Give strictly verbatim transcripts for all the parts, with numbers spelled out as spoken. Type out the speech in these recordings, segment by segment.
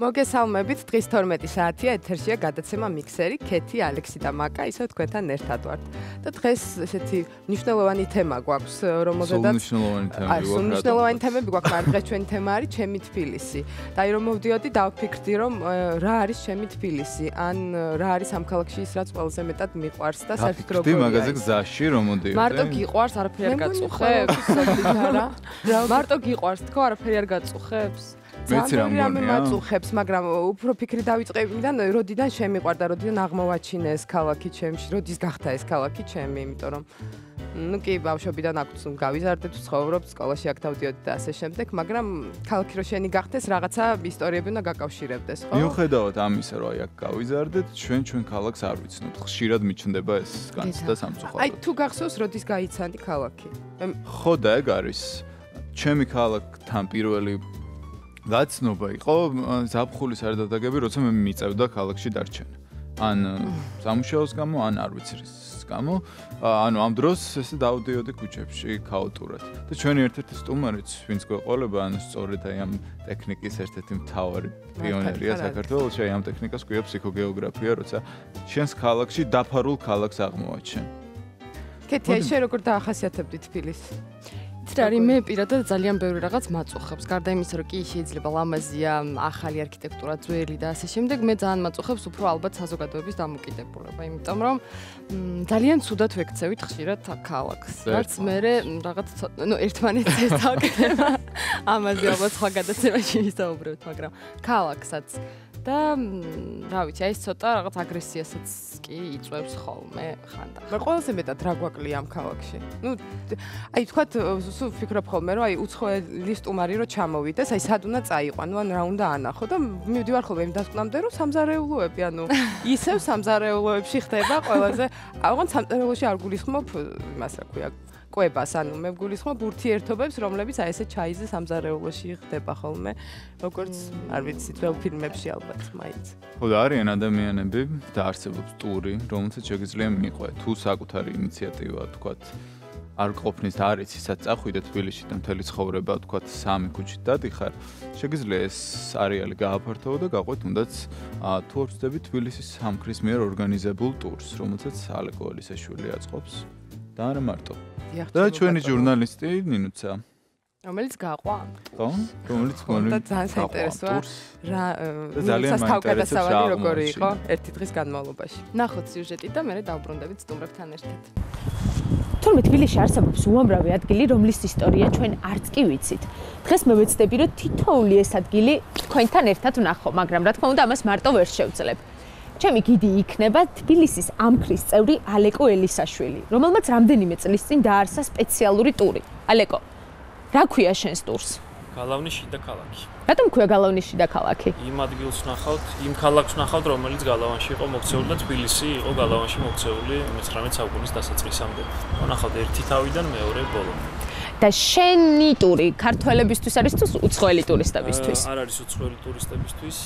მოგესალმებით, დღის თორმეტი საათია, ეთერშია გადაცემა მიქსერი, ქეთი, ალექსი და მაკა, ისევ თქვენთან ერთად ვართ. და დღეს ესეთი მნიშვნელოვანი თემა გვაქვს, რომელზედაც სულ მნიშვნელოვანი თემები გვაქვს. სულ მნიშვნელოვანი თემები გვაქვს, მაგრამ დღეს ჩვენი თემა არის ჩემი თბილისი. და აი რომ მოვდიოდი, დავფიქრდი, რომ რა არის ჩემი თბილისი, ან რა არის ამ ქალაქში ის, რაც ყველაზე მეტად მიყვარს და საერთოდ როგორია. დიდი მაღაზია გზაში რომ მოდიოდი. მარტო გიყვარს, არაფერი არ გაწუხებს? მარტო გიყვარს, თქო, არაფერი არ გაწუხებს? მეც რა რამე მაწუხებს, მაგრამ უფრო ფიქრი დავიწყებიდან, როდიდან შემიყვარდა, როდიდან აღმოვაჩინე ეს ქალაქი ჩემში, როდის გახდა ეს ქალაქი ჩემი, იმიტომ რომ ну კი ბავშვობიდან აქვს გავიზარდეთ, ცხოვრობთ, სკოლაში აქ დავდიოდი და ასე შემდეგ, მაგრამ ქალაქი რო შენი გახდეს, რაღაცა ისტორიები უნდა გაკავშირებდეს, ხო? მიუხედავად ამისა, რომ აი აქ გავიზარდეთ, ჩვენ ჩვენ ქალაქს არ ვიცნობთ. ხშირად მიჩნდება ეს განცდა სამწუხაროდ. აი თუ გახსოვს, როდის გაიცანი ქალაქი? ხო და ეგ არის. ჩემი ქალაქთან პირველი გაცნობა იყო ზაფხულის არდადაგები, როცა მე მიწევდა ქალაქში დარჩენა. ან სამუშაოს გამო, ან არ ვიცი რის გამო, ანუ ამ დროს ესე დავდიოდი ქუჩებში ქაოტურად. და ჩვენი ერთ-ერთი სტუმარიც, ვინც გვეყოლება, ანუ სწორედ აი ამ ტექნიკის ერთ-ერთი მთავარი პიონერია საქართველოში, აი ამ ტექნიკას ქვია ფსიქოგეოგრაფია, როცა შენს ქალაქში დაფარულ ქალაქს აღმოვაჩენ. ქეთი, აი შენ როგორ დაახასიათებდი თბილისი? იცი, მე პირადად ძალიან ბევრი რაღაც მაწუხებს. გარდა იმისა, რომ კი შეიძლება ლამაზია, ახალი არქიტექტურა, ძველი და ასე შემდეგ, მე ძალიან მაწუხებს უფრო ალბათ საზოგადოების დამოკიდებულება, იმიტომ რომ ძალიან ცუდად ვექცევით ხშირად ქალაქს. რაც მე რაღაც ნუ ერთმანეთს ესწავდება. ამაზე ალბათ სხვა გადაცემაში ვისაუბრებთ, მაგრამ ქალაქსაც და რა ვიცი, აი ეს ცოტა რაღაც აგრესიასაც კი იწვევს ხოლმე ხანდახან. მე ყველაზე მეტად რა გვაკლია ამ ქალაქში. ნუ აი თქვათ, სულ ვფიქრობ ხოლმე, რომ აი უცხოელი სტუმარი რო ჩამოვიდეს, აი სად უნდა წაიყვანო, ან რა უნდა ანახო და მივდივარ ხოლმე იმ დასკვნამდე, რომ სამზარეულოები, ანუ ისევ სამზარეულოებში ხდება ყველაზე, აღონ სამზარეულოში არ გულისხმობ იმას რა ქვია, კვებას, ანუ მე ვგულისხმობ ურთიერთობებს, რომლებიც აი ესე ჩაიზე სამზარეულოში ხდება ხოლმე, როგორც არ ვიცი, ძველ ფილმებში ალბათ მაინც. ხო და არიან ადამიანები და არსებობს ტური, რომელსაც შეგიძლია მიყვე, თუ საკუთარი ინიციატივა, თქვათ, არ ყოფნის და არ იცი სად წახვიდე თბილისში და მთელი ცხოვრება, თქვათ, სამი ქუჩით დადიხარ, შეგიძლია ეს არეალი გააფართოვო და გაყვეთ თუნდაც თუ არ ვწდები თბილისის სამქრის მიერ ორგანიზებულ ტურს, რომელსაც ალეკო ელისაშვილი აწყობს და არა მარტო. და ჩვენი ჟურნალისტი ნინუცა, რომელიც გაყვა. ხო? რომელიც გონი და ძალიან საინტერესოა რა ძალიან თავგადასავალი როგორი იყო ერთი დღის განმავლობაში. ნახოთ სიუჟეტი და მე დავბრუნდებით სტუმრებთან ერთად. თურმე თბილისში არსებობს უამრავი ადგილი, რომლის ისტორია ჩვენ არც კი ვიცით. დღეს მე ვეცდები, რომ თითოეული ეს ადგილი თქვენთან ერთად ვნახო, მაგრამ რა თქმა უნდა, ამას მარტო ვერ შევძლებ. ჩემი გიდი იქნება თბილისის ამქრის წევრი ალეკო ელისაშვილი, რომელმაც რამდენიმე წლის წინ დაარსა სპეციალური ტური. ალეკო, რა ქვია შენს ტურს? გალავნის შიდა ქალაქი. რატომ ქვია გალავნის შიდა ქალაქი? იმ ადგილს ვნახავთ, იმ ქალაქს ვნახავთ, რომელიც გალავანში იყო მოქცეული და თბილისი იყო გალავანში მოქცეული მეცხრამეტე საუკუნის დასაწყისამდე. ვნახავთ ერთი თავიდან მეორე ბოლო. და შენი ტური ქართველებისთვის არის თუ უცხოელი ტურისტებისთვის? არ არის უცხოელი ტურისტებისთვის.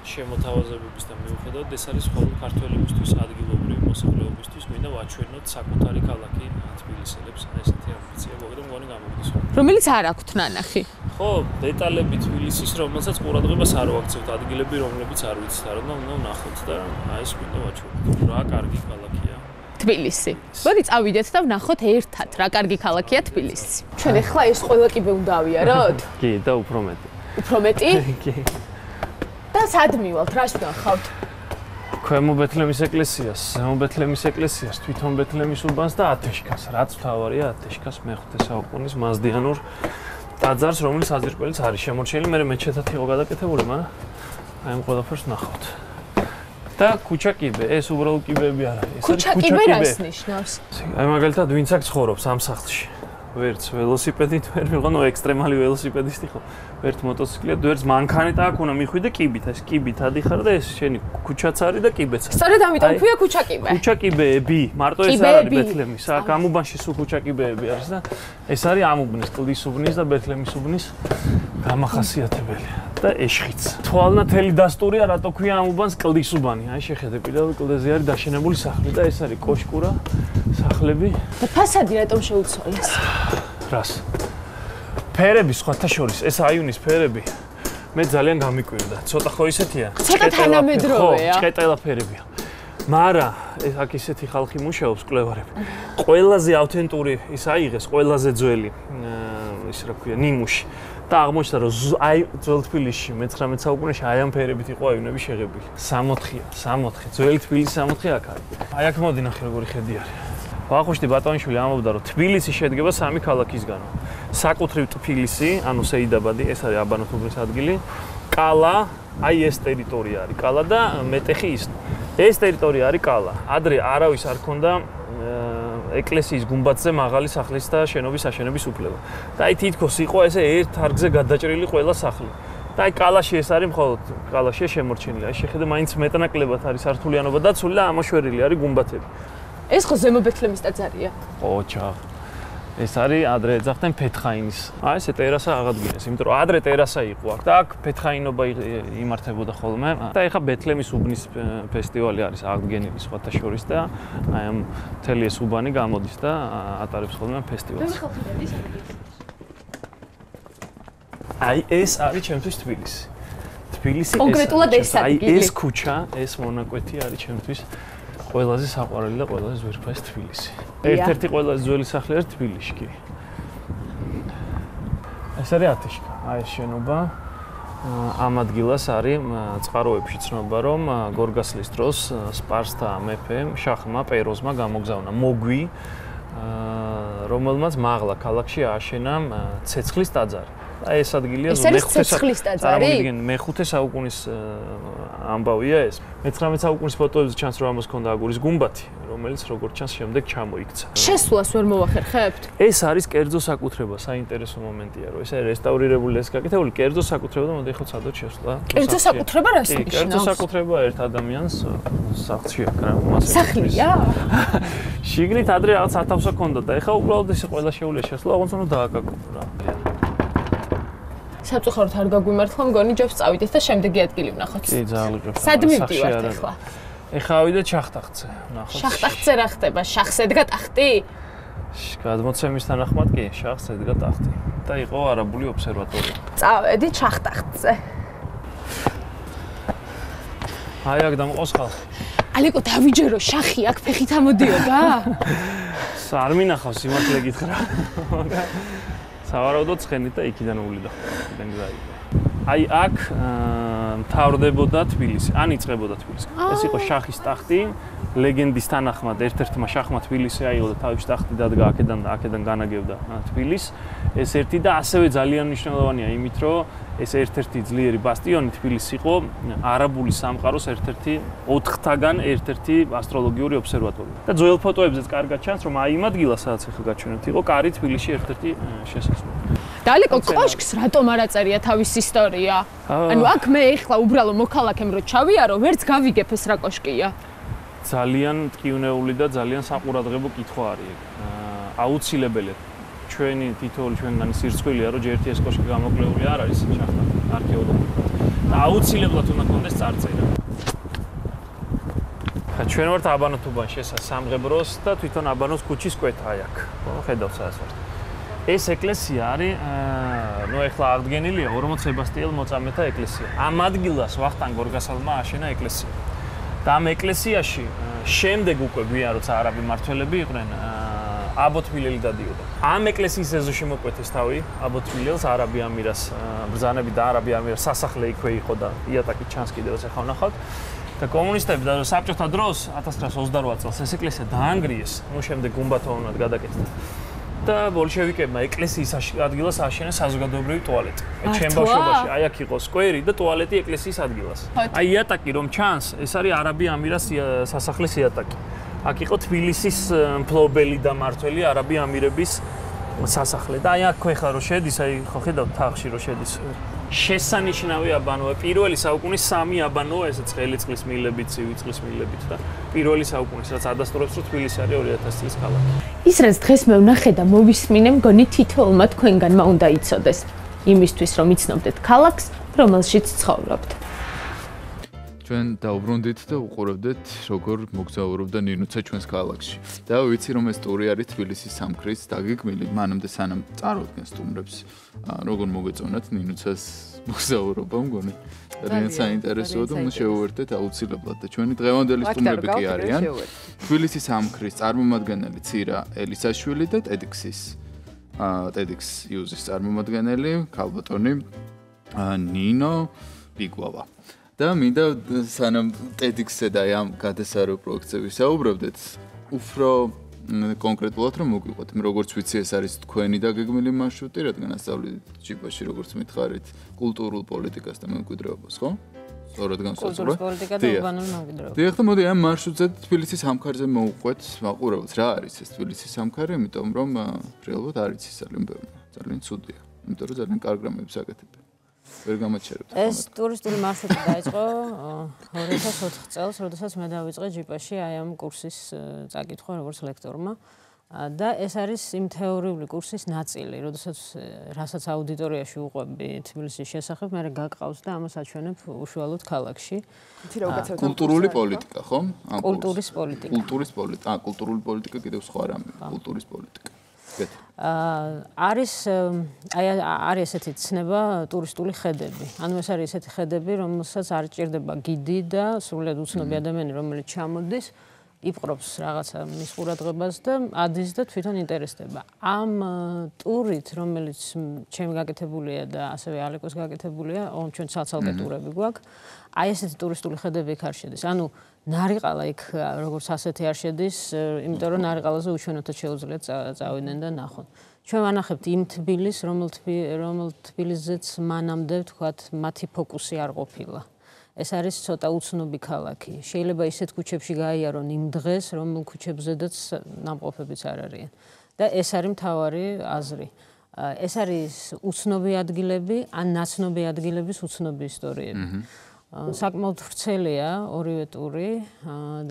შემოთავაზებების და მიუხედავად ეს არის მხოლოდ ქართველებისთვის, ადგილობრივი მოსახლეობისთვის, მინდა ვაჩვენოთ საკუთარი ქალაქი თბილისელებს, ესეთი ამბიცია გვაქვს და მგონი გამოგდის. რომელიც არ აქვთ ნანახი. ხო, დეტალები თბილისის, რომელსაც ყურადღებას არ ვაქცევთ, ადგილები, რომლებიც არ ვიცით, არა და უნდა ვნახოთ და აი ეს მინდა ვაჩვენოთ. რა კარგი ქალაქია თბილისი. მოდი წავიდეთ და ვნახოთ ერთად, რა კარგი ქალაქია თბილისი. ჩვენ ახლა ეს ყველა კიბე უნდა ავიაროთ? კი, და უფრო მეტი. უფრო მეტი? კი. და სად მივალთ, რას ვნახავთ? ქვემო ბეთლემის ეკლესიას, ზემო ბეთლემის ეკლესიას, თვითონ ბეთლემის უბანს და ათეშკას. რაც მთავარია ათეშკას მეხუთე საუკუნის მაზდიანურ ტაძარს, რომლის საძირკველიც არის შემორჩენილი, მე მეჩეთად იყო გადაკეთებული, მაგრამ აი ამ ყველაფერს ვნახავთ. და ქუჩა კიბე, ეს უბრალოდ კიბეები არა, ეს არის ქუჩა კიბე რას ნიშნავს? აი მაგალითად ვინც აქ ცხოვრობს ამ სახლში. ვერც ველოსიპედით ვერ ვიყო, ნუ ექსტრემალი ველოსიპედისტი ხო. ვერც მოტოციკლით, ვერც მანქანით აქ უნდა მიხვიდე კიბით, ეს კიბით ადიხარ და ეს შენი ქუჩაც არის და კიბეც არის. სწორედ ამიტომ ქვია ქუჩა კიბე. ქუჩა კიბეები, მარტო ეს არ არის ბეთლემის. აქ ამ უბანში სულ ქუჩა კიბეები არის და ეს არის ამ უბნის, კლდის უბნის და ბეთლემის უბნის გამახასიათებელი და ეშხიც. თვალნათელი დასტურია, რატო ქვია ამ უბანს კლდის უბანი. აი შეხედე, პირველ კლდეზე არის დაშენებული სახლი და ეს არის კოშკურა, სახლები. და ფასადი რატომ შეუცვალეს? რას? ფერები სხვათა შორის, ეს აიუნის ფერები მე ძალიან გამიკვირდა. ცოტა ხო ისეთია? ცოტა თანამედროვეა. ჭყეტელაფერებია. მარა ეს აქ ისეთი ხალხი მუშაობს კვლევარები. ყველაზე ავთენტური ის აიღეს, ყველაზე ძველი ის რა ქვია, ნიმუში. და აღმოჩნდა რომ აი ძველ თბილისში მეცხრამეტე საუკუნეში აი ამ ფერებით იყო აივნები შეღებილი. სამოთხია, სამოთხი. ძველი თბილისი სამოთხი აქ არის. აი აქ მოდი ნახე როგორი ხედი არის. ვახუშტი ბატონიშვილი ამბობდა რომ თბილისი შედგება სამი ქალაქისგანო. საკუთრივ თბილისი, ანუ სეიდაბადი, ეს არის აბანოთუბნის ადგილი. კალა, აი ეს ტერიტორია არის კალა და მეტეხი ის. ეს ტერიტორია არის კალა. ადრე არავის არ ქონდა ეკლესიის გუმბათზე მაღალი სახლის და შენობის აშენების უფლება. და აი თითქოს იყო ესე ერთ არგზე გადაჭრილი ყველა სახლი. და აი კალაში ეს არის მხოლოდ კალაშია შემორჩენილი. აი შეხედე მაინც მეტნაკლებად არის სართულიანობა დაცული და ამოშვერილი არის გუმბათები. ეს ხო ზემო ბეთლემის ტაძარია? ოჩა. ეს არის ადრე ეძახდნენ ფეთხაინის. აი ესე ტერასა აღადგინეს, იმიტომ რომ ადრე ტერასა იყო აქ და აქ ფეთხაინობა იმართებოდა ხოლმე. და ეხა ბეთლემის უბნის ფესტივალი არის აღდგენილი სხვათა შორის და აი ამ მთელი ეს უბანი გამოდის და ატარებს ხოლმე ფესტივალს. აი ეს არის ჩემთვის თბილისი. თბილისი კონკრეტულად ეს ადგილი. აი ეს ქუჩა, ეს მონაკვეთი არის ჩემთვის ყველაზე საყვარელი და ყველაზე ძვირფასი თბილისი. ერთ-ერთი ყველაზე ძველი სახლი არის თბილისში კი. ეს არის ათეშკა. აი ეს შენობა ამ ადგილას არის წყაროებში ცნობა რომ გორგასლის დროს სპარსთა მეფემ შახმა პეროზმა გამოგზავნა მოგვი რომელმაც მაღლა ქალაქში ააშენა ცეცხლის ტაძარი. აი ეს ადგილია მეხუთე წამოვიდგენ მეხუთე საუკუნის ამბავია ეს. მეცხრამეტე საუკუნის ფოტოებზე ჩანს რომ ამას ჰქონდა აგურის გუმბათი, რომელიც როგორც ჩანს შემდეგ ჩამოიქცა. შესვლას ვერ მოვახერხებთ? ეს არის კერძო საკუთრება, საინტერესო მომენტია, რომ ეს არის რესტავრირებული ეს გაკეთებული კერძო საკუთრება და მოდი ხო ცადოთ შესვლა. კერძო საკუთრება რას ნიშნავს? კერძო საკუთრება ერთ ადამიანს სახლში აკრა მას. სახლია? შიგნით ადრე რაღაც სათავსო ჰქონდა და ეხლა უბრალოდ ეს ყველა შეუძლია შესვლა, ოღონდ უნდა დააკაკო რა. საფწუხაროდ არ გაგვიმართლა, მგონი ჯობს წავიდეთ და შემდეგი ადგილი ვნახოთ. კი, ძალიან. სად მივდივართ ახლა? ეხლა ავიდეთ შახტახტზე, ვნახოთ. შახტახტზე რა ხდება? შახს ედგა ტახტი? გადმოცემის თანახმად კი, შახს ედგა ტახტი. და იყო არაბული ობსერვატორია. წავედით შახტახტზე. აი აქ დამყავს ხალხი. ალეკო დავიჯერო, შახი აქ ფეხით ამოდიოდა? არ მინახავს სიმართლე გითხრა. სავარაუდოდ ცხენით და იქიდან ულიდა. იქიდან გაიგო. აი აქ მთავრდებოდა თბილისი, ან იწყებოდა თბილისი. ეს იყო შახის ტახტი, ლეგენდის თანახმად ერთ-ერთმა შახმა თბილისი აიღო და თავის ტახტი დადგა აქედან და აქედან განაგებდა თბილისს. ეს ერთი და ასევე ძალიან მნიშვნელოვანია იმით, რომ ეს ერთ-ერთი ძლიერი ბასტიონი თბილისი იყო არაბული სამყაროს ერთ-ერთი ოთხთაგან ერთ-ერთი ასტროლოგიური ობსერვატორია. და ძველ ფოტოებზეც კარგად ჩანს, რომ აი იმ ადგილას, სადაც ახლა გაჩვენებთ, იყო კარი თბილისში ერთ-ერთი შესასვლელი. დალეკო კოშკს რატომ არ აწერია თავის ისტორია? ანუ აქ მე ეხლა უბრალო მოქალაქემ რო ჩავიარო, ვერც გავიგებ ეს რა კოშკია. ძალიან ტკივნეული და ძალიან საყურადღებო კითხვა არის. აუცილებელი ჩვენი თითოეული ჩვენგანი სირცხვილია, რომ ჯერ ერთი ეს კოშკი გამოკვლეული არ არის შახტა არქეოლოგიურად. და აუცილებლად უნდა კონდეს წარწერა. ხა ჩვენ ვართ აბანოთუბანში, ესა სამღებროს და თვითონ აბანოს ქუჩის კვეთა აი აქ. ხო, ხედავთ სადაც ვართ. ეს ეკლესია არის, ნუ ეხლა აღდგენილია ორმოც სებასტიელ მოწამეთა ეკლესია. ამ ადგილას ვახტანგ გორგასალმა აშენა ეკლესია. და ამ ეკლესიაში შემდეგ უკვე გვიან როცა არაბი მმართველები იყვნენ, აბოთმილელი დადიოდა. ამ ეკლესიის ეზოში მოკვეთეს თავი აბოთმილელს, არაბი ამირას ბრძანები და არაბი ამირას სასახლე იქვე იყო და იატაკი ჩანს კიდევაც ახლა ვნახავთ. და კომუნისტები და საბჭოთა დროს ათას ცხრაასი ოცდარვა წელს ეს ეკლესია დაანგრიეს, ნუ შემდეგ გუმბათოვნად გადაკეთდა. და ბოლშევიკებმა ეკლესიის ადგილას ააშენეს საზოგადოებრივი ტუალეტი. ჩემ ბავშვობაში აი აქ იყო სკვერი და ტუალეტი ეკლესიის ადგილას. აი იატაკი რომ ჩანს, ეს არის არაბი ამირას სასახლის იატაკი. აქ იყო თბილისის მფლობელი და მმართველი არაბი ამირების სასახლე. და აი აქ ხეხლა რო შედის, აი ხო ხედავთ თაღში რო შედის. შესანიშნავი აბანოა, პირველი საუკუნის სამი აბანოა, ესეც ყელიწყლის მილებით, ცივი წყლის მილებით და პირველი საუკუნის, რაც ადასტურებს, რომ თბილისი არის ორი ათასი წლის ქალაქი. ის რაც დღეს მე ვნახე და მოვისმინე, მგონი თითოეულმა თქვენგანმა უნდა იცოდეს, იმისთვის რომ იცნობდეთ ქალაქს, რომელშიც ცხოვრობთ. ჩვენ დაუბრუნდით და უყურებდეთ, როგორ მოგზაურობდა ნინუცა ჩვენს ქალაქში. და ვიცი, რომ ეს ტური არის თბილისის სამქრის დაგეგმილი, მანამდე სანამ წარუდგენ სტუმრებს, როგორ მოგეწონათ ნინუცას მოგზაურობა, მგონი. ძალიან საინტერესოა და უნდა შევუერთდეთ აუცილებლად და ჩვენი დღევანდელი სტუმრები კი არიან. თბილისის სამქრის წარმომადგენელი ცირა ელისაშვილი და TEDx-ის TEDx News-ის წარმომადგენელი ქალბატონი ნინო ბიგვავა. და მინდა სანამ TEDx-ზე და ამ გადასარო პროექტზე ვისაუბრებდეთ, უფრო კონკრეტულად რომ მოგვიყვეთ, როგორც ვიცი, ეს არის თქვენი დაგეგმილი მარშრუტი, რადგან ასწავლით ჯიბაში, როგორც მითხარით, კულტურულ პოლიტიკას და მემკვიდრეობას, ხო? სწორად განსაზღვრა. კულტურის პოლიტიკა და ურბანული მემკვიდრეობა. დიახ, და მოდი ამ მარშრუტზე თბილისის სამქარზე მოვყვეთ, მაყურებელს რა არის ეს თბილისის სამქარი, იმიტომ რომ რეალურად არის ის ძალიან ბევრი, ძალიან ცუდია, იმიტომ რომ ძალიან კარგ რამებს აკეთებენ. ვერ გამაჩერებთ. ეს ტურისტული მარშრუტი დაიწყო ორი ათას ოთხ წელს, როდესაც მე დავიწყე ჯიპაში აი ამ კურსის წაკითხვა როგორც ლექტორმა. და ეს არის იმ თეორიული კურსის ნაწილი, როდესაც რასაც აუდიტორიაში უყვები თბილისის შესახებ, მე გაგყავს და ამას აჩვენებ უშუალოდ ქალაქში. კულტურული პოლიტიკა, ხო? კულტურის პოლიტიკა. კულტურის პოლიტიკა, აა კულტურული პოლიტიკა კიდევ სხვა რამე, კულტურის პოლიტიკა. არის აი არის ესეთი ცნება ტურისტული ხედები. ანუ ეს არის ესეთი ხედები, რომელსაც არ ჭირდება გიდი და სრულად უცნობი ადამიანი, რომელიც ჩამოდის, იპყრობს რაღაცა მის ყურადღებას და ადის და თვითონ ინტერესდება. ამ ტურით, რომელიც ჩემი გაკეთებულია და ასევე ალეკოს გაკეთებულია, ჩვენ ცალ-ცალკე ტურები გვაქვს. აი ესეთი ტურისტული ხედები იქ არ შედის. ანუ ნარიყალა იქ როგორც ასეთი არ შედის, იმიტომ რომ ნარიყალაზე უჩვენოთად შეუძლიათ წავიდნენ და ნახონ. ჩვენ ვანახებთ იმ თბილისს, რომელ თბილისზეც მანამდე ვთქვათ, მათი ფოკუსი არ ყოფილა. ეს არის ცოტა უცნობი ქალაქი. შეიძლება ისეთ ქუჩებში გაიარონ იმ დღეს, რომელ ქუჩებზედაც ნამყოფებიც არ არიან. და ეს არის მთავარი აზრი. ეს არის უცნობი ადგილები, ან ნაცნობი ადგილების უცნობი ისტორიები. საკმაოდ ვრცელია ორივე ტური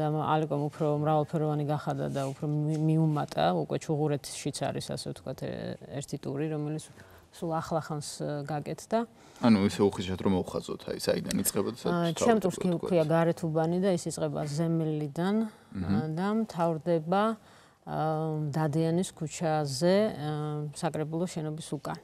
და ალეკომ უფრო მრავალფეროვანი გახადა და უფრო მიუმატა, უკვე ჩუღურეთშიც არის ასე ვთქვათ ერთი ტური, რომელიც სულ ახლახანს გაკეთდა. ანუ ისე უხეშად რომ მოვხაზოთ, აი საიდან იწყება და საერთოდ. ჩემ ტურს ქვია გარეთუბანი და ის იწყება ზემლიდან და მთავრდება დადიანის ქუჩაზე საკრებულოს შენობის უკან.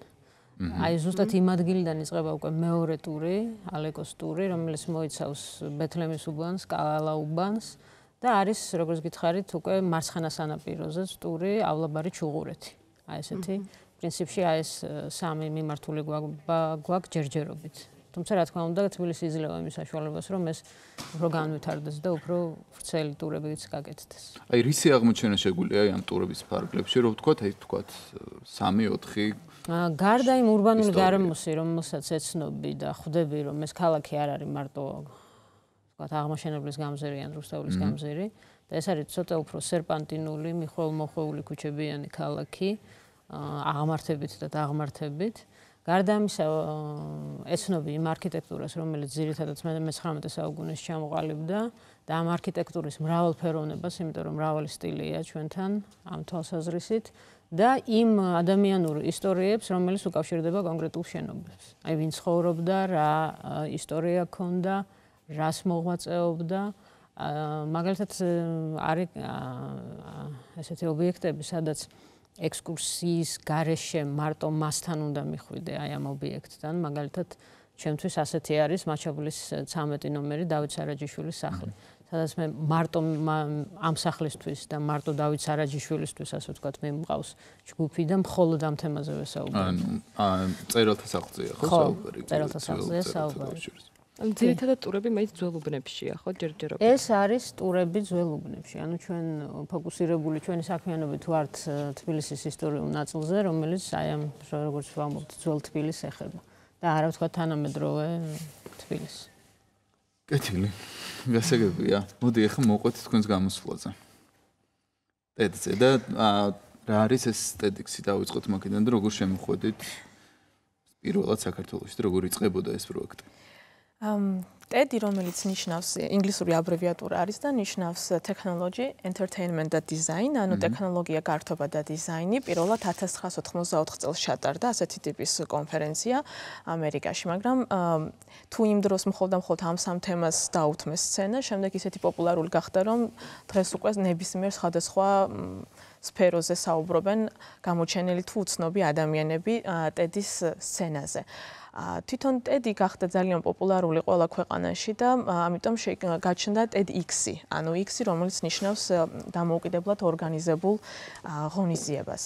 აი ზუსტად იმ ადგილიდან იწყება უკვე მეორე ტური, ალეკოს ტური, რომელიც მოიცავს ბეთლემის უბანს, კალალა უბანს და არის, როგორც გითხარით, უკვე მარცხენა სანაპიროზე ტური ავლაბარი ჩუღურეთი. აი ესეთი პრინციპში აი ეს სამი მიმართული გვაქვს ჯერჯერობით. თუმცა რა თქმა უნდა, თბილისი იძლევა იმის საშუალებას, რომ ეს უფრო განვითარდეს და უფრო ვრცელი ტურებიც გაკეთდეს. აი რისი აღმოჩენა შეგვიძლია აი ამ ტურების ფარგლებში, რომ ვთქვათ, აი ვთქვათ სამი ოთხი გარდა იმ ურბანული გარემოსი, რომელსაც ეცნობი და ხვდები, რომ ეს ქალაქი არ არის მარტო ვთქვათ აღმაშენებლის გამზირი ან რუსთაველის გამზირი და ეს არის ცოტა უფრო სერპანტინული, მიხვალ-მოხვეული ქუჩებიანი ქალაქი, აღმართებით და დაღმართებით. გარდა ამისა, ეცნობი იმ არქიტექტურას, რომელიც ძირითადად მეცხრამეტე საუკუნეში ჩამოყალიბდა და ამ არქიტექტურის მრავალფეროვნებას, იმიტომ რომ მრავალი სტილია ჩვენთან ამ თვალსაზრისით და იმ ადამიანურ ისტორიებს, რომელიც უკავშირდება კონკრეტულ შენობებს. აი ვინ ცხოვრობდა, რა ისტორია ჰქონდა, რას მოღვაწეობდა, მაგალითად არის ესეთი ობიექტები, სადაც ექსკურსიის გარეშე მარტო მასთან უნდა მიხვიდე აი ამ ობიექტთან, მაგალითად ჩემთვის ასეთი არის მაჩაბლის ცამეტი ნომერი დავით სარაჯიშვილის სახლი. სადაც მე მარტო ამ სახლისთვის და მარტო დავით სარაჯიშვილისთვის ასე ვთქვათ მე მყავს ჯგუფი და მხოლოდ ამ თემაზე ვესაუბრებ. ანუ წერალთა სახლზეა ხო საუბარი? წერალთა სახლზეა საუბარი. ანუ ძირითადად ტურები მაინც ძველ უბნებშია ხო ჯერჯერობით. ეს არის ტურები ძველ უბნებში. ანუ ჩვენ ფოკუსირებული ჩვენი საქმიანობით ვართ თბილისის ისტორიულ ნაწილზე, რომელიც აი ამ როგორც ვამბობთ ძველ თბილისს ეხება და არა ვთქვათ თანამედროვე თბილისს. კეთილი. გასაგებია. მოდი ახლა მოვყვეთ თქვენს გამოსვლაზე. TEDx-ზე და რა არის ეს TEDx-ი დავიწყოთ მაგიდან და როგორ შემოხვედით პირველად საქართველოში და როგორ იწყებოდა ეს პროექტი? ტედი, რომელიც ნიშნავს ინგლისური აბრევიატურა არის და ნიშნავს technology, entertainment და design, ანუ ტექნოლოგია, გართობა და დიზაინი. პირველად ათას ცხრაასი ოთხმოცდაოთხ წელს ჩატარდა ასეთი ტიპის კონფერენცია ამერიკაში, მაგრამ თუ იმ დროს მხოლოდ და მხოლოდ ამ სამ თემას დაუთმეს სცენა, შემდეგ ისეთი პოპულარული გახდა, რომ დღეს უკვე ნებისმიერ სხვადასხვა სფეროზე საუბრობენ გამოჩენილი თუ უცნობი ადამიანები ტედის სცენაზე. თვითონ ტედი გახდა ძალიან პოპულარული ყველა ქვეყანაში და ამიტომ გაჩნდა TEDx-ი, ანუ X-ი, რომელიც ნიშნავს დამოუკიდებლად ორგანიზებულ ღონისძიებას.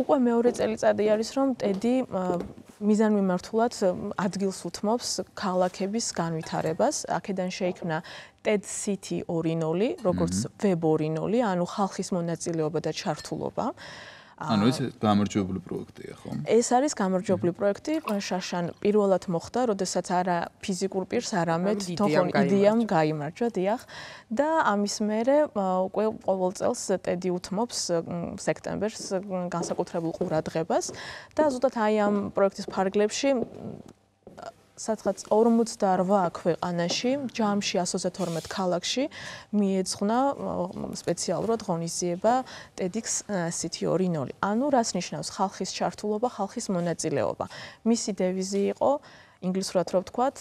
უკვე მეორე წელიწადი არის, რომ ტედი მიზანმიმართულად ადგილს უთმობს ქალაქების განვითარებას. აქედან შეიქმნა TED City ორი ნული, როგორც Web ორი ნული, ანუ ხალხის მონაწილეობა და ჩართულობა. ანუ ეს გამარჯვებული პროექტია, ხო? ეს არის გამარჯვებული პროექტი. შაშან პირველად მოხდა, როდესაც არა ფიზიკურ პირს, არამედ თვითონ იდეამ გაიმარჯვა, დიახ. და ამის მერე უკვე ყოველ წელს ტედი უთმობს სექტემბერს განსაკუთრებულ ყურადღებას და ზუსტად აი ამ პროექტის ფარგლებში სადღაც ორმოცდაორვა ქვეყანაში, ჯამში ათას ოცდათორმეტ ქალაქში მიეძღვნა სპეციალურად ღონისძიება TEDx City ორი ნული. ანუ რას ნიშნავს ხალხის ჩართულობა, ხალხის მონაწილეობა. მისი დევიზი იყო ინგლისურად რო ვთქვათ,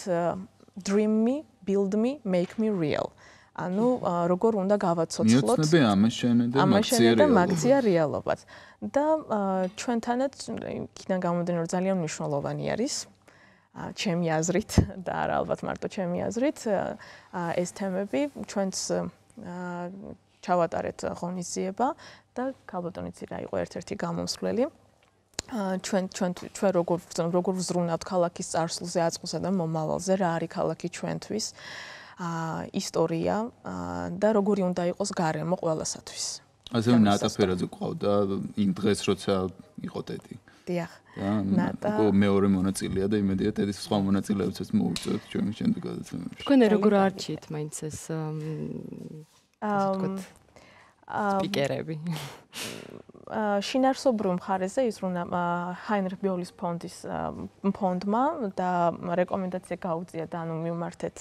dream me, build me, make me real. ანუ როგორ უნდა გავაცოცხლოთ მიოცნები ამაშენე და ამაშენე და მაგზია რეალობად. და ჩვენთანაც იქიდან გამომდინარე რომ ძალიან მნიშვნელოვანი არის ჩემი აზრით და არა ალბათ მარტო ჩემი აზრით ეს თემები ჩვენც ჩავატარეთ ღონისძიება და ქალბატონიც რა იყო ერთ-ერთი გამომსვლელი ჩვენ ჩვენ ჩვენ როგორ როგორ ვზრუნავთ ქალაქის წარსულზე, აწყლსა და მომავალზე, რა არის ქალაქი ჩვენთვის, ისტორია და როგორი უნდა იყოს გარემო ყველასათვის. ასე ნატა ფერაძე ყავდა იმ დღეს როცა იყო ტედი. დიახ. ნატა მეორე მონაწილეა და იმედია ტედის სხვა მონაწილეებსაც მოვიწევთ ჩვენი შემდეგ გადაცემებში. თქვენ როგორ არჩიეთ მაინც ეს სპიკერები? შინაარსობრივ მხარეზე იზრუნა ჰაინრიხ ბიოლის ფონდის ფონდმა და რეკომენდაცია გაუწია და ანუ მივმართეთ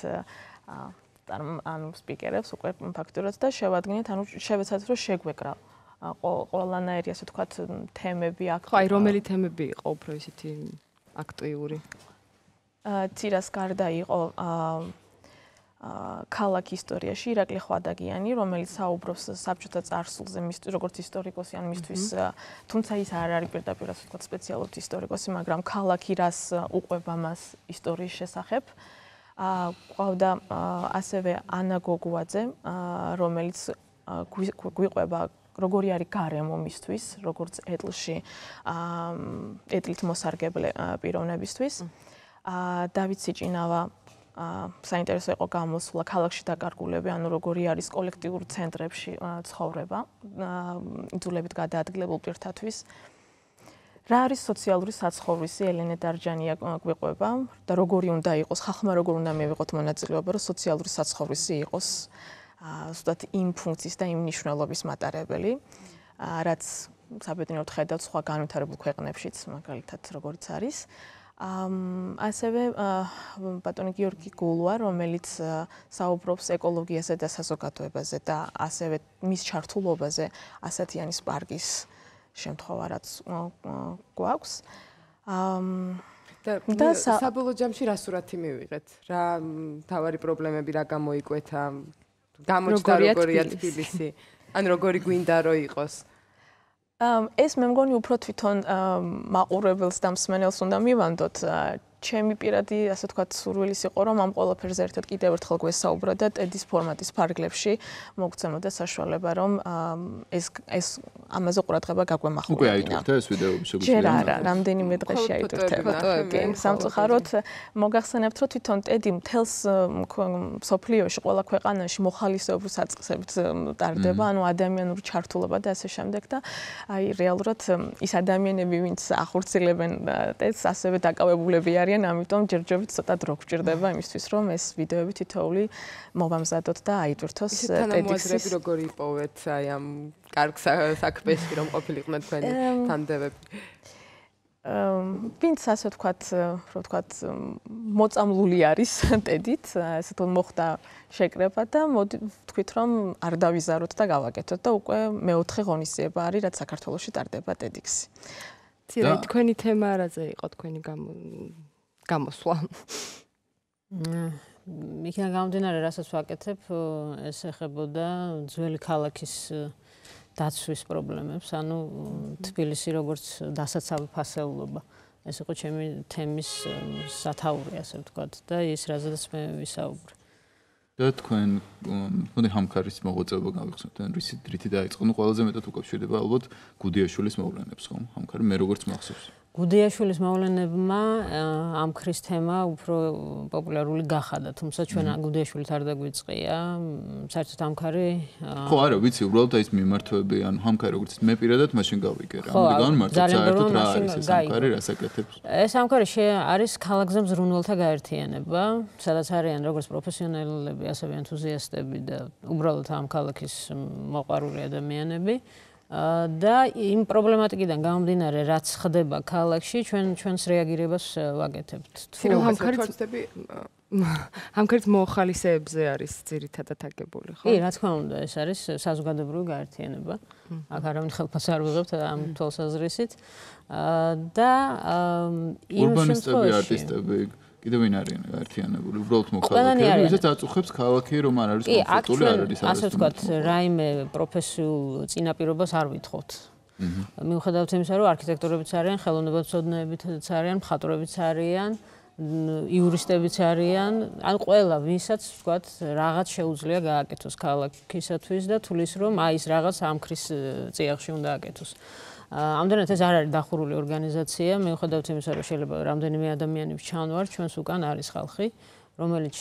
ანუ სპიკერებს უკვე ფაქტურად და შევადგენთ, ანუ შევეცადეთ რომ შეგვეკრა ყველანაირი ასე ვთქვათ თემები აქ. ხო, აი რომელი თემები იყო უფრო ისეთი აქტიური? ცირას გარდა იყო ქალაქ ისტორიაში ირაკლი ხვადაგიანი, რომელიც საუბრობს საბჭოთა წარსულზე, მის როგორც ისტორიკოსი, ან მისთვის, თუმცა ის არ არის პირდაპირ ასე ვთქვათ სპეციალურად ისტორიკოსი, მაგრამ ქალაქი რას უყვება მას ისტორიის შესახებ. ყავდა ასევე ანა გოგუაძე, რომელიც გვიყვება როგორი არის გარემო მისთვის, როგორც ეტლში, ეტლით მოსარგებლე პიროვნებისთვის. დავით სიჭინავა საინტერესო იყო გამოსვლა ქალაქში დაკარგულები, ანუ როგორი არის კოლექტიურ ცენტრებში ცხოვრება, იძულებით გადაადგილებულ პირთათვის. რა არის სოციალური საცხოვრისი, ელენე დარჯანია გვიყვება და როგორი უნდა იყოს, ხალხმა როგორ უნდა მივიღოთ მონაწილეობა, რომ სოციალური საცხოვრისი იყოს ზუსტად იმ ფუნქციის და იმ მნიშვნელობის მატარებელი, რაც საბედნიეროდ ხედავთ სხვა განვითარებულ ქვეყნებშიც, მაგალითად როგორიც არის. ასევე ბატონი გიორგი გულვა, რომელიც საუბრობს ეკოლოგიაზე და საზოგადოებაზე და ასევე მის ჩართულობაზე ასათიანის პარკის შემთხვევა რაც გვაქვს. და საბოლოო ჯამში რა სურათი მივიღეთ? რა თავარი პრობლემები რა გამოიკვეთა? გამოჩნდა როგორია თბილისი? ან როგორი გვინდა რომ იყოს? ეს მე მგონი უფრო თვითონ მაყურებელს და მსმენელს უნდა მივანდოთ. ჩემი პირადი, ასე ვთქვათ, სურვილის იყო, რომ ამ ყველაფერზე ერთად კიდევ ერთხელ გვესაუბრა და ტედის ფორმატის ფარგლებში მოგცემოდა საშუალება, რომ ეს ეს ამაზე ყურადღება გაგვემახვილებინა. უკვე აიტვირთა ეს ვიდეოები შეგვიძლია? ჯერ არა, რამდენიმე დღეში აიტვირთება. სამწუხაროდ მოგახსენებთ, რომ თვითონ ტედი მთელს სოფლიოში, ყველა ქვეყანაში მოხალისეობის აწყისებით ტარდება, ანუ ადამიანური ჩართულობა და ასე შემდეგ და აი რეალურად ის ადამიანები, ვინც ახორციელებენ ტედს, ასევე დაკავებულები არიან, ამიტომ ჯერჯერობით ცოტა დრო გვჭირდება იმისთვის, რომ ეს ვიდეოები თითოეული მოვამზადოთ და აიტვირთოს TEDx-ის. როგორი იპოვეთ აი ამ კარგ საქმეში, რომ ყოფილიყვნენ თქვენი თანდებები? ვინც ასე ვთქვათ, რო ვთქვათ, მოწამლული არის ტედით, ასე თუ მოხდა შეკრება და მოდი ვთქვით, რომ არ დავიზაროთ და გავაკეთოთ და უკვე მეოთხე ღონისძიება არის, რაც საქართველოში ტარდება TEDx-ი. ცირა თქვენი თემა რაზე იყო თქვენი გამოსვლა? იქიდან გამომდინარე, რასაც ვაკეთებ, ეს ეხებოდა ძველი ქალაქის დაცვის პრობლემებს, ანუ თბილისი როგორც დასაცავი ფასეულობა. ეს იყო ჩემი თემის სათაური, ასე ვთქვათ, და ის რაზედაც მე ვისაუბრე. და თქვენ მოდი ჰამქარის მოღვაწეობა გავიხსენოთ, ან რითი რითი დაიწყო? ნუ ყველაზე მეტად უკავშირდება ალბათ გუდიაშვილის მოვლენებს, ხომ? ჰამქარი მე როგორც მახსოვს. გუდიაშვილის მოვლენებმა ამ ქრის თემა უფრო პოპულარული გახადა, თუმცა ჩვენ გუდიაშვილით არ დაგვიწყია, საერთოდ ჰამქარი ხო, არა, ვიცი, უბრალოდ აი ეს მიმართვები, ანუ ჰამქარი როგორც მე პირადად მაშინ გავიგე რა. ამიტომ განმარტოთ საერთოდ რა არის ეს ჰამქარი, რას აკეთებს? ეს ჰამქარი არის ქალაქზე მზრუნველთა გაერთიანება, სადაც არიან როგორც პროფესიონალები, ასევე ენთუზიასტები და უბრალოდ ამ ქალაქის მოყვარული ადამიანები. და იმ პრობლემატიკიდან გამომდინარე, რაც ხდება ქალაქში, ჩვენ ჩვენს რეაგირებას ვაკეთებთ. თუ ჰამქარიცები ჰამქარიც მოხალისეებზე არის ძირითადად აგებული, ხო? კი, რა თქმა უნდა, ეს არის საზოგადოებრივი გაერთიანება. აქ არავინ ხელფას არ ვიღებთ ამ თვალსაზრისით. და იმ ურბანისტები, არტისტები კიდევ ვინ არიან გაერთიანებული? უბრალოდ მოქალაქეები, ვისაც აწუხებს ქალაქი, რომ არ არის კომფორტული, არ არის ასე ვთქვათ, რაიმე პროფესიულ წინაპირობას არ ვითხოვთ. მიუხედავად იმისა, რომ არქიტექტორებიც არიან, ხელოვნებაცოდნეებიც არიან, მხატვრებიც არიან, იურისტებიც არიან, ან ყველა, ვისაც ვთქვათ, რაღაც შეუძლია გააკეთოს ქალაქისათვის და თulis რომ აი ეს რაღაც ამ ქრის წიაღში უნდა აკეთოს. ამდენად ეს არ არის დახურული ორგანიზაცია, მიუხედავად იმისა, რომ შეიძლება რამდენიმე ადამიანი ჩანვარ, ჩვენს უკან არის ხალხი, რომელიც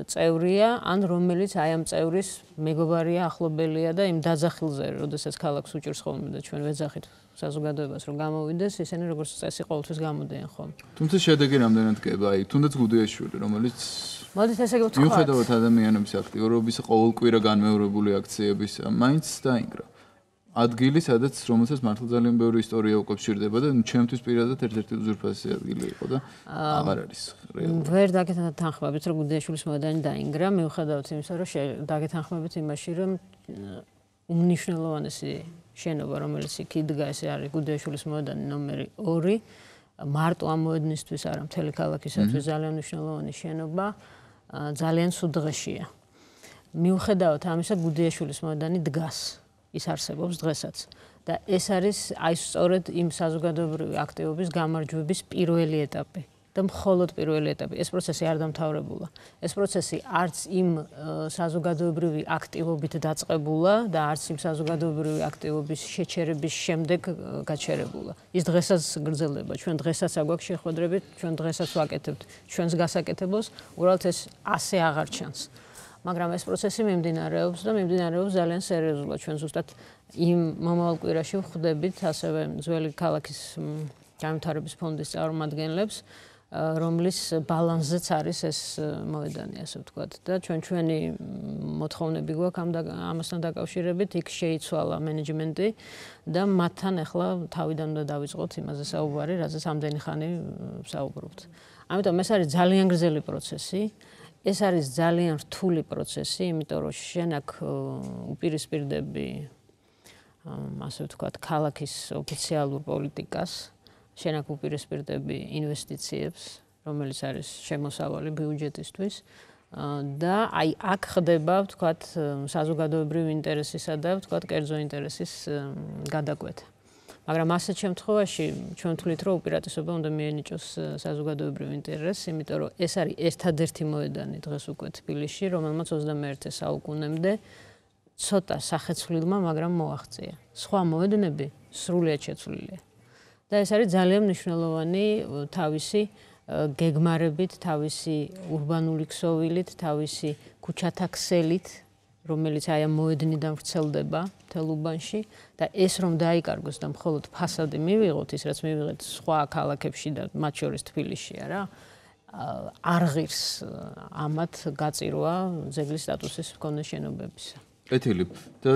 წევრია, ან რომელიც აი ამ წევრის მეგობარია, ახლობელია და იმ დაძახილზე, როდესაც ქალაქს უჭირს ხოლმე და ჩვენ ვეძახით საზოგადოებას, რომ გამოვიდეს, ისინი როგორც წესი ყოველთვის გამოდიან ხოლმე. თუმცა შედეგი რამდენად გება, აი, თუნდაც გუდიაშვილი, რომელიც მოდით ესე ვთქვათ. მიუხედავად ადამიანების აქტიურობის, ყოველკვირა განმეორებული აქციების, მაინც დაინგრა. ადგილი, სადაც რომელსაც მართლა ძალიან ბევრი ისტორია უკავშირდება და ჩემთვის პირადად ერთ-ერთი უზურპესი ადგილი იყო და აღარ არის რეალური. ვერ დაგეთანხმებით, რომ გუდიაშვილის მოედანი დაინგრა, მიუხედავად იმისა, რომ დაგეთანხმებით იმაში, რომ უმნიშვნელოვანესი შენობა, რომელიც იქ იდგა, ეს არის გუდიაშვილის მოედანი ნომერი ორი, მარტო ამ მოედნისთვის არა, მთელი ქალაქისათვის ძალიან მნიშვნელოვანი შენობა, ძალიან სულ დღეშია. მიუხედავად ამისა, გუდიაშვილის მოედანი დგას. ის არსებობს დღესაც და ეს არის აი სწორედ იმ საზოგადოებრივი აქტივობის გამარჯვების პირველი ეტაპი და მხოლოდ პირველი ეტაპი. ეს პროცესი არ დამთავრებულა. ეს პროცესი არც იმ საზოგადოებრივი აქტივობით დაწყებულა და არც იმ საზოგადოებრივი აქტივობის შეჩერების შემდეგ გაჩერებულა. ის დღესაც გრძელდება. ჩვენ დღესაც აგვაქვს შეხვედრები, ჩვენ დღესაც ვაკეთებთ ჩვენს გასაკეთებელს, უბრალოდ ეს ასე აღარ ჩანს. მაგრამ ეს პროცესი მიმდინარეობს და მიმდინარეობს ძალიან სერიოზულად. ჩვენ ზუსტად იმ მომავალ კვირაში ვხვდებით ასევე ძველი ქალაქის განვითარების ფონდის წარმომადგენლებს, რომლის ბალანსზეც არის ეს მოედანი, ასე ვთქვათ. და ჩვენ ჩვენი მოთხოვნები გვაქვს ამ ამასთან დაკავშირებით, იქ შეიცვალა მენეჯმენტი და მათთან ახლა თავიდან უნდა დავიწყოთ იმაზე საუბარი, რაზეც ამდენი ხანი ვსაუბრობთ. ამიტომ ეს არის ძალიან გრძელი პროცესი. ეს არის ძალიან რთული პროცესი, იმიტომ რომ შენ აქ უპირისპირდები ასე ვთქვათ, ქალაქის ოფიციალურ პოლიტიკას, შენ აქ უპირისპირდები ინვესტიციებს, რომელიც არის შემოსავალი ბიუჯეტისთვის და აი აქ ხდება, ვთქვათ, საზოგადოებრივი ინტერესისა და ვთქვათ, კერძო ინტერესის გადაკვეთა. მაგრამ ასეთ შემთხვევაში ჩვენ ვთვლით, რომ უპირატესობა უნდა მიენიჭოს საზოგადოებრივ ინტერესს, იმიტომ რომ ეს არის ერთადერთი მოედანი დღეს უკვე თბილისში, რომელმაც ოცდამეერთე საუკუნემდე ცოტა სახეცვლილმა, მაგრამ მოაღწია. სხვა მოედნები სრულიად შეცვლილია. და ეს არის ძალიან მნიშვნელოვანი თავისი გეგმარებით, თავისი ურბანული ქსოვილით, თავისი ქუჩათა ქსელით, რომელიც აი ამ მოედნიდან ვრცელდება მთელ უბანში და ეს რომ დაიკარგოს და მხოლოდ ფასადი მივიღოთ, ის რაც მივიღეთ სხვა ქალაქებში და მათ შორის თბილისში არა, არ ღირს ამათ გაწირვა ძეგლის სტატუსის მქონე შენობებისა. კეთილი. და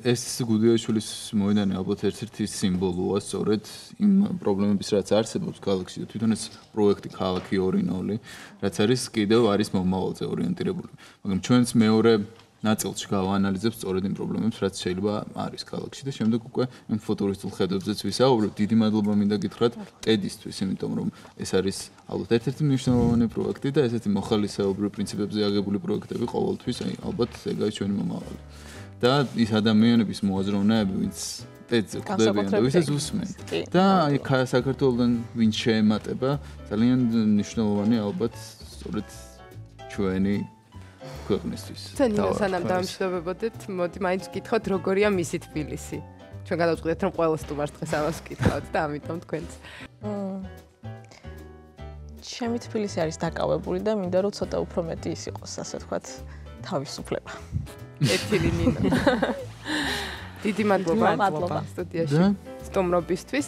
ეს გუდიაშვილის მოედანი ალბათ ერთ-ერთი სიმბოლოა სწორედ იმ პრობლემების რაც არსებობს ქალაქში და თვითონ ეს პროექტი ქალაქი ორინოლი, რაც არის კიდევ არის მომავალზე ორიენტირებული. მაგრამ ჩვენც მეორე ნაწილში გავაანალიზებთ სწორედ იმ პრობლემებს, რაც შეიძლება არის ქალაქში და შემდეგ უკვე იმ ფუტურისტულ ხედებზეც ვისაუბრებთ. დიდი მადლობა მინდა გითხრათ ტედისთვის, იმიტომ რომ ეს არის ალბათ ერთ-ერთი მნიშვნელოვანი პროექტი და ესეთი მოხალისეობრივ პრინციპებზე აგებული პროექტები ყოველთვის, აი ალბათ ეგ არის ჩვენი მომავალი. და ის ადამიანების მოაზროვნეები, ვინც ტედზე ხვდებიან და ვისაც უსმენ. და აი საქართველოსთან ვინც შეემატება, ძალიან მნიშვნელოვანი ალბათ სწორედ ჩვენი ქვეყნისთვის. ცენინა სანამ დამშვიდობებოდეთ, მოდი მაინც ვკითხოთ, როგორია მისი თბილისი. ჩვენ გადავწყვიტეთ, რომ ყველა სტუმარს დღეს ამას ვკითხავთ და ამიტომ თქვენც. ჩემი თბილისი არის დაკავებული და მინდა რომ ცოტა უფრო მეტი ის იყოს, ასე ვთქვათ, თავისუფლება. ეთილი ნინა. დიდი მადლობა სტუდიაში სტუმრობისთვის.